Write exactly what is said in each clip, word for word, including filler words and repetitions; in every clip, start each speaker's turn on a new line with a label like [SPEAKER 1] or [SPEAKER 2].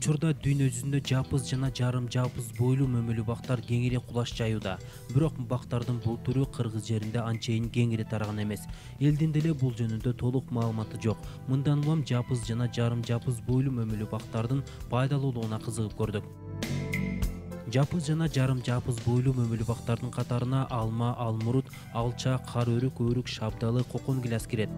[SPEAKER 1] Учурда дүйнө жүзүндө жапыз жана жарым жапыз бойлуу мөмөлүү бактар кеңири кулаш жаюуда. Бирок бактардын бул түрү кыргыз жеринде анчейин кеңири тараган эмес. Элдин деле бул жөнүндө толук маалыматы жок. Мындан улам жапыз жана жарым жапыз бойлуу мөмөлүү бактардын пайдалуулугуна кызыгып көрдүк. Жапыз жана жарым жапыз бойлуу мөмөлүү бактардын катарына алма, алмурут, алча, кар өрүк, өрүк, шабдалы, кокон гиляс кирет.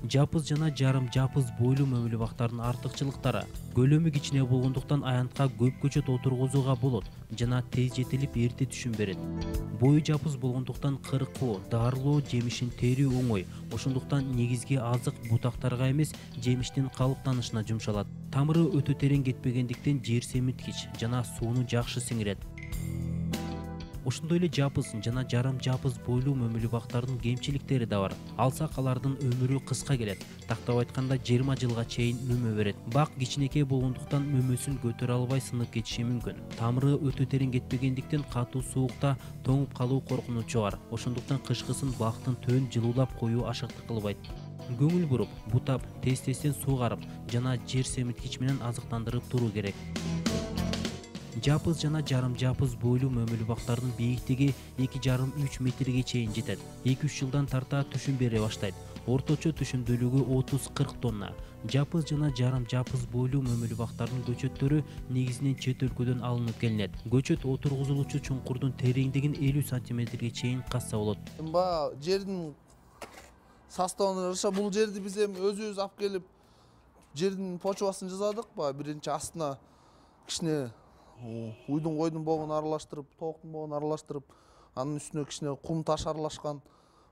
[SPEAKER 1] Жапыз жана жарым жапыз бойлуу мөмөлүү бактардын артыкчылыктары: көлөмү кичине болгондуктан аянтка көп көчөт отургузууга болот жана тез жетилип эрте түшүм берет. Бою жапыз болгондуктан кыркуу, дарылоо, жемишин терүү оңой. Ошондуктан негизги азык бутактарга эмес, жемиштин калыптанышына жумшалат. Тамыры өтө терең кетпегендиктен жер семирткич жана сууну жакшы сиңирет. Ошондой эле жапыз жана жарым жапыз бойлуу мөмөлүү бактардын кемчиликтери да бар. Алсак алардын өмүрү кыска келет. Тактап айтканда жыйырма жылга чейин мөмө берет. Бак кичинекей болгондуктан мөмөсүн көтөрө албай сынып кетиши мүмкүн. Тамыры өтө терең кетпегендиктен катуу суукта тоңуп калуу коркунучу бар. Ошондуктан кышкысын бактын төн жылуулап коюу ашыктык кылбайт. Көңүл буруп, бутап, тез-тезден суугарып жана жер семирткич менен азыктандырып туруу керек. Жапыз жана жарым жапыз бойлуу мөмөлүү бактардын бийиктиги эки жарым үч метрге чейин жетет. эки үч жылдан тарта түшүм бере баштайт. Орточо түшүмдүүлүгү отуз кырк тонна. Жапыз жана жарым жапыз бойлуу мөмөлүү бактардын көчөттөрү негизинен чет өлкөдөн алынып келинет. Көчөт отургузулуучу чуңкурдун тереңдигин элүү сантиметрге чейин казса болот.
[SPEAKER 2] Баягы жердин составына жараша бул жерди биз эми өзүбүз алып келип жердин почвасын жасадык. Баягы биринчи астына кичине уйдун койдун богун аралаштырып, тооктун богун аралаштырып, анын үстүнө кичине кум таш аралашкан.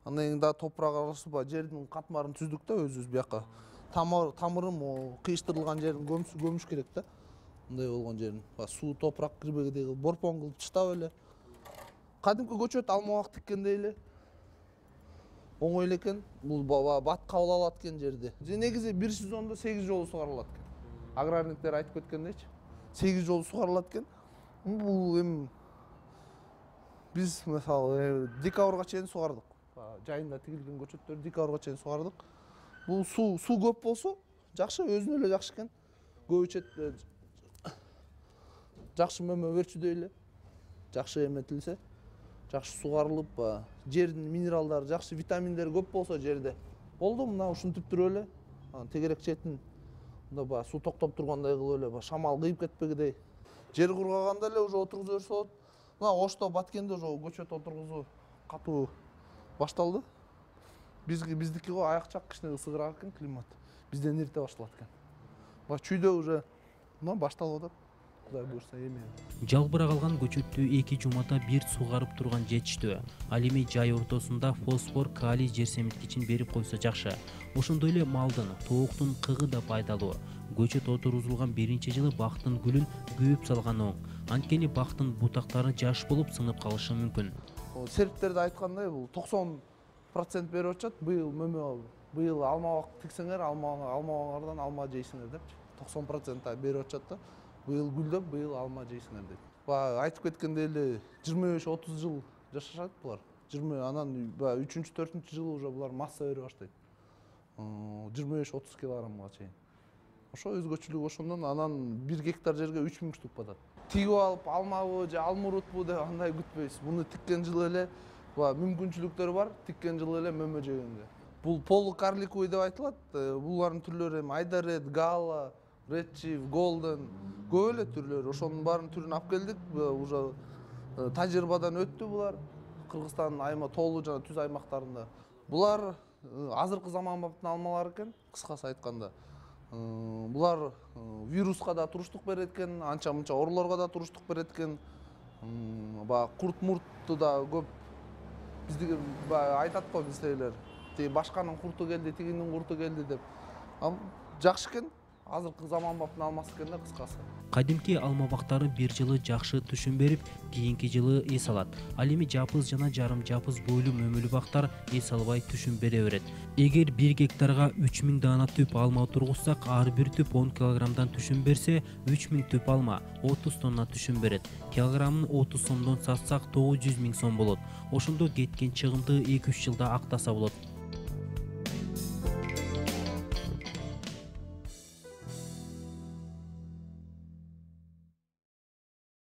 [SPEAKER 2] Андан кийин дагы топурак аралашып, жердин катмарын түздүк да өзүбүз бияка. Тамырым кыйыштырылган жерин көмүш керек да. Мындай болгон жерин. Суу, топурак кирбегидей кылып, борпон кылып таштап эле. Кадимки көчөт алма бак тиккендей эле. Оңой эле экен. Бул бат кабыл алат экен жерди. Негизи бир сезондо сегиз жолу сугарылат экен. Аграрниктер айтып кеткендейчи. сегиз жолу сугарылат экен. Бул эми биз мисалы декабрга чейин сугардык. Жайында тигилген көчөттөр декабрга чейин сугардык. Бул суу суу көп болсо жакшы, өзүнө эле жакшы экен. Көп ичет жакшы мөмө берчүдөй эле. Жакшы эметилсе, жакшы сугарылып, жердин минералдары жакшы, витаминдери көп болсо жерде. Болду, мына ушинтип туруп эле. Тегерек четин мында баягы суу токтоп тургандай кылып эле, шамал кыйып кетпегидей. Жер кургаганда эле уже отургуза берсе болот. Мына Ошто, Баткенде уже көчөт отургузуу катуу башталды. Бизги биздики го аякчак кичине ысыгыраак экен климат. Бизден эрте башталат экен. Ба чүйдө уже мына башталып атат. Кудай буйрса эми.
[SPEAKER 1] Жалбырак алган көчөттү эки жумада бир суугарып турган жетиштүү. Ал эми жай ортосунда фосфор, калий жер семирткичин берип койсо жакшы. Ошондой эле малдын, тооктун кыгы да пайдалуу. Көчөт отургузулган биринчи жылы бактын гүлүн күйүп салган оң. Анткени бактын бутактары жаш болуп сынып калышы мүмкүн.
[SPEAKER 2] Сериктерде айткандай, бул токсон процент берип атышат. Быйыл мөмө, быйыл алма бак тиксеңер, алма алмаңардан алма жейсиңер депчи. токсон процент берип атышат да. Быйыл гүлдөп, быйыл алма жейсиңер деп. Баягы айтып кеткендей эле жыйырма беш отуз жыл жашашат булар. жыйырма анан баягы үчүнчү төртүнчү жылы уже булар масса бере баштайт. жыйырма беш отуз килограммга чейин. Ошо өзгөчөлүгү ошондон анан бир гектар жерге үч миң штук батат. Тигип алып алмабы же алмурутпу деп андай күтпөйсүз. Муну тиккен жылы эле баягы мүмкүнчүлүктөрү бар, тиккен жылы эле мөмө жегенге. Бул полукарликовый деп айтылат. Булардын түрлөрү эми Айдарет, Гала, Red Chief, Golden, көп эле түрлөрү. Ошонун баарын түрүн алып келдик. Уже тажрыйбадан өттү булар. Кыргызстандын айма тоолуу жана түз аймактарында. Булар азыркы заманбаптын алмалары экен, кыскасы айтканда. Булар вируска да туруштук берет экен, анча-мынча оорулорго да туруштук берет экен. Баягы курт-муртту да көп биздики баягы айтат го биздегилер. Тиги башканын курту келди, тигинин курту келди деп. Жакшы экен. Азыркы заманбаптын алмасы экен да кыскасы.
[SPEAKER 1] Кадимки алма бактары бир жылы жакшы түшүм берип, кийинки жылы эс алат. Ал эми жапыз жана жарым жапыз бойлуу мөмөлүү бактар эс албай түшүм бере берет. Эгер бир гектарга үч миң даана түп алма тургузсак, ар бир түп он килограммдан түшүм берсе, үч миң түп алма отуз тонна түшүм берет. Килограммын отуз сомдон сатсак тогуз жүз миң сом болот. Ошондо кеткен чыгымды эки үч жылда актаса болот.